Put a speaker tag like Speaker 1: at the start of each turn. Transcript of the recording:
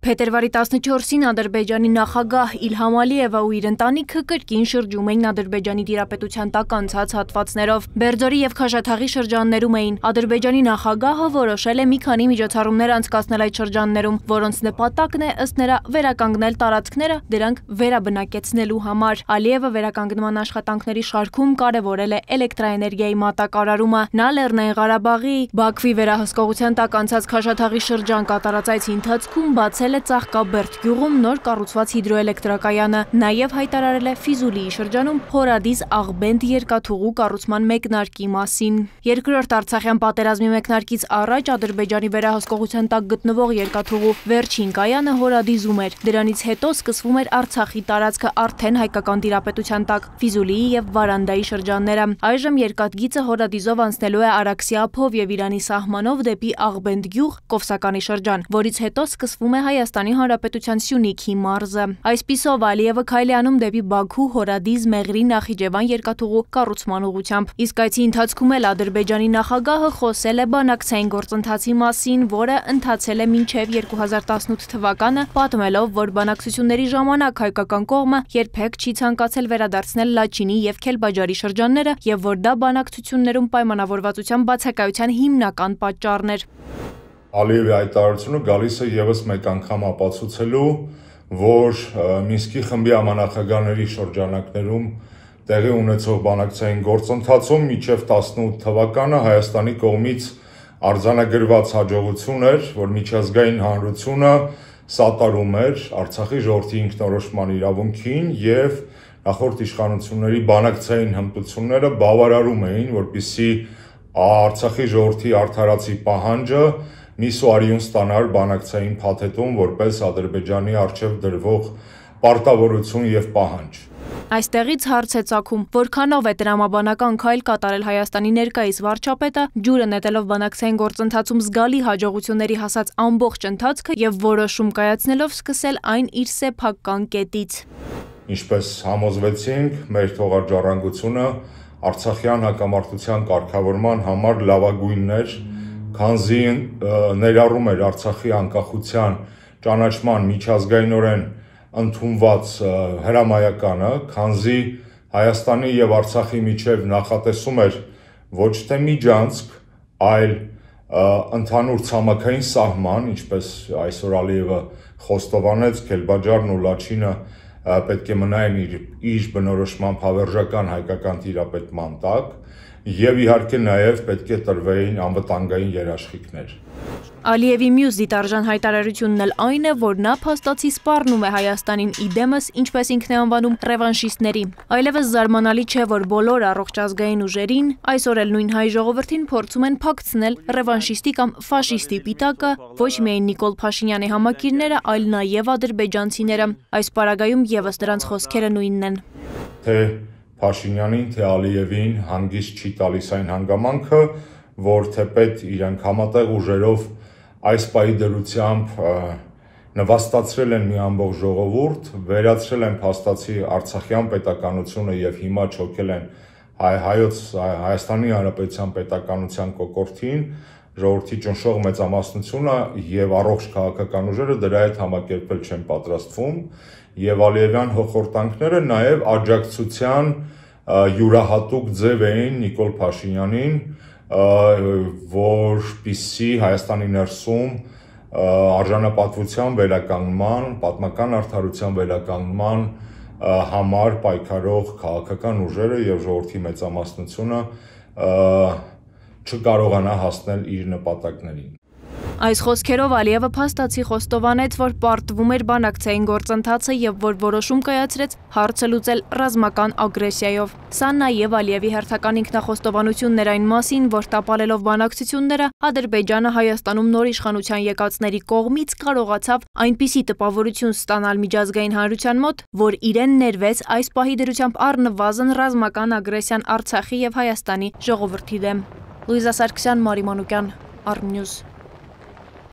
Speaker 1: Փետրվարի 14-ին Ադրբեջանի նախագահ Իլհամ Ալիևը ու իր ընտանիքը կրկին շրջում էին Ադրբեջանի տիրապետության տակ անցած հատվածներով։ Բերձորի եւ Քաշաթաղի շրջաններում էին։ Ադրբեջանի նախագահը որոշել է մի քանի միջոցառումներ անցկացնել այդ շրջաններում, որոնց նպատակն է ըստ նրա վերականգնել տարածքները, դրանք վերաբնակեցնելու համար։ Ալիևը վերականգնման աշխատանքների շարքում կարևորել է էլեկտրաէներգիայի մատակարարումը։ Նա Լեռնային Ղարաբաղի Բաքվի վերահսկողության տակ անցած Քաշաթաղի շրջան կատարած այցի ընթացքում բացել է Ծաղկաբերդ գյուղում նոր կառուցված հիդրոէլեկտրակայանը, նաև հայտարարել է Ֆիզուլիի շրջանում Հորադիս Աղբենդ երկաթուղու կառուցման մեկնարկի մասին։ Երկրորդ Արցախյան պատերազմի մեկնարկից առաջ Ադրբեջանի վերահսկողության տակ գտնվող երկաթուղու վերջին կայանը Հորադիզում էր։ Դրանից հետո սկսվում էր Արցախի տարածքը արդեն հայկական տիրապետության տակ, Ֆիզուլիի եւ Վարանդայի շրջանները։ Այժմ երկաթգիծը Հորադիզով անցնելու է Արաքսի ափով եւ Իրանի սահմանով դեպի Աղբենդ գյուղ, Կովսականի շրջան, որից հետո սկսվում է Հայաստանի Հանրապետության Սյունիքի մարզը։ Այսպիսով Ալիևը քայլ է անում դեպի Բաքու, Հորադիզ, Մեղրի, Նախիջևան երկաթուղու կառուցման ուղղությամբ։ Իսկ այցի ընթացքում էլ Ադրբեջանի նախագահը խոսել է բանակցային գործընթացի մասին, որը ընթացել է մինչև 2018 թվականը, պատմելով, որ բանակցությունների ժամանակ հայկական կողմը երբեք չի ցանկացել վերադարձնել Լաչինի եւ Քելբաջարի շրջանները եւ որ դա բանակցություններում պայմանավորվածության բացակայության հիմնական պատճառն էր։
Speaker 2: Ալիևի հայտարարությունը գալիս է եւս մեկ անգամ ապացուցելու, որ Մինսկի խմբի համանախագահների շրջանակներում տեղի ունեցող բանակցային գործընթացում մինչև 18 թվականը Հայաստանի կողմից արձանագրված հաջողություն էր, որ միջազգային հանրությունը սատարում էր Արցախի ժողովրդի ինքնորոշման իրավունքին եւ նախորդ իշխանությունների բանակցային հմտությունները բավարարում էին, որպեսզի Արցախի ժողովրդի արդարացի պահանջը միսուարիուն ստանար բանակցային փաթեթում որպես Ադրբեջանի արչև դրվող պարտավորություն եւ պահանջ։
Speaker 1: Այստեղից հարց է ծագում, որքանով է տրամաբանական քայլ կատարել Հայաստանի ներկայիս վարչապետը, ջուրը նետելով բանակցային գործընթացում զգալի հաջողությունների հասած ամբողջ ընթացքը եւ որոշում կայացնելով սկսել այն իր սեփական կետից։
Speaker 2: Ինչպես համոզվեցինք, մեր թողարկժառանգությունը Արցախյան հակամարտության կարգավորման համար լավագույնն էր, քանզի ներառում էր Արցախի անկախության ճանաչման միջազգայինորեն ընդունված հրամայականը, քանզի Հայաստանի եւ Արցախի միջև նախատեսում էր ոչ թե միջանցք, այլ ընդհանուր ցամաքային սահման, ինչպես այսօր Ալիևը խոստովանեց, Քելբաջարն ու Լաչինը պետք է մնային իր բնորոշման հավերժական հայկական տիրապետման տակ եւ իհարկե նաեւ պետք է տրվեին անվտանգային երաշխիքներ։
Speaker 1: Ալիևի մյուս դիտարժան հայտարարությունն էլ այն է, որ նա փաստացի սպառնում է Հայաստանին իդեմս, ինչպես ինքն է անվանում, ռևանշիստների։ Այլևս զարմանալի չէ, որ բոլոր առողջ ազգային ուժերին, այսօր էլ նույն հայ ժողովրդին փորձում են փակցնել ռևանշիստի կամ ֆաշիստի պիտակը ոչ միայն Նիկոլ Փաշինյանի համակիրները, այլ նաեւ ադրբեջանցիները։ Այս պարագայում եւս նրանց խոսքերը նույնն են։
Speaker 2: Թե Փաշինյանին, թե Ալիևին հանգիստ չի տալիս այն հանգամանքը, որ թեպետ իրենք համատեղ ուժերով այս պահի դրությամբ նվաստացրել են մի ամբողջ ժողովուրդ, վերացրել են փաստացի Արցախյան պետականությունը եւ հիմա չոքել են Հայաստանի Հանրապետության պետականության կոկորդին, ժողովրդի ճնշող մեծամասնությունը եւ առողջ քաղաքական ուժերը դրա հետ համակերպել չեն պատրաստվում եւ Ալիևյան հոխորտանքները նաեւ աջակցության յուրահատուկ ձև էին Նիկոլ Փաշինյանին, որպեսզի Հայաստանի ներսում արժանապատվության վերականգնման, պատմական արդարության վերականգնման համար պայքարող քաղաքական ուժերը եւ ժողովրդի մեծամասնությունը չկարողանա հասնել իր նպատակներին։
Speaker 1: Այս խոսքերով Ալիևը փաստացի խոստովանեց, որ պարտվում էր բանակցային գործընթացը եւ որ որոշում կայացրեց հարցը լուծել ռազմական ագրեսիայով։ Սա նաեւ Ալիևի հերթական ինքնախոստովանությունն էր այն մասին, որ տապալելով բանակցությունները Ադրբեջանը Հայաստանում նոր իշխանության եկածների կողմից կարողացավ այնպիսի տպավորություն ստանալ միջազգային հանրության մոտ, որ իրեն ներվեց այս պահի դրությամբ առնվազն ռազմական ագրեսիան Արցախի եւ Հայաստանի ժողովրդի դեմ։ Լուիզա Սարգսյան, Մարի Մանուկյան, Artnews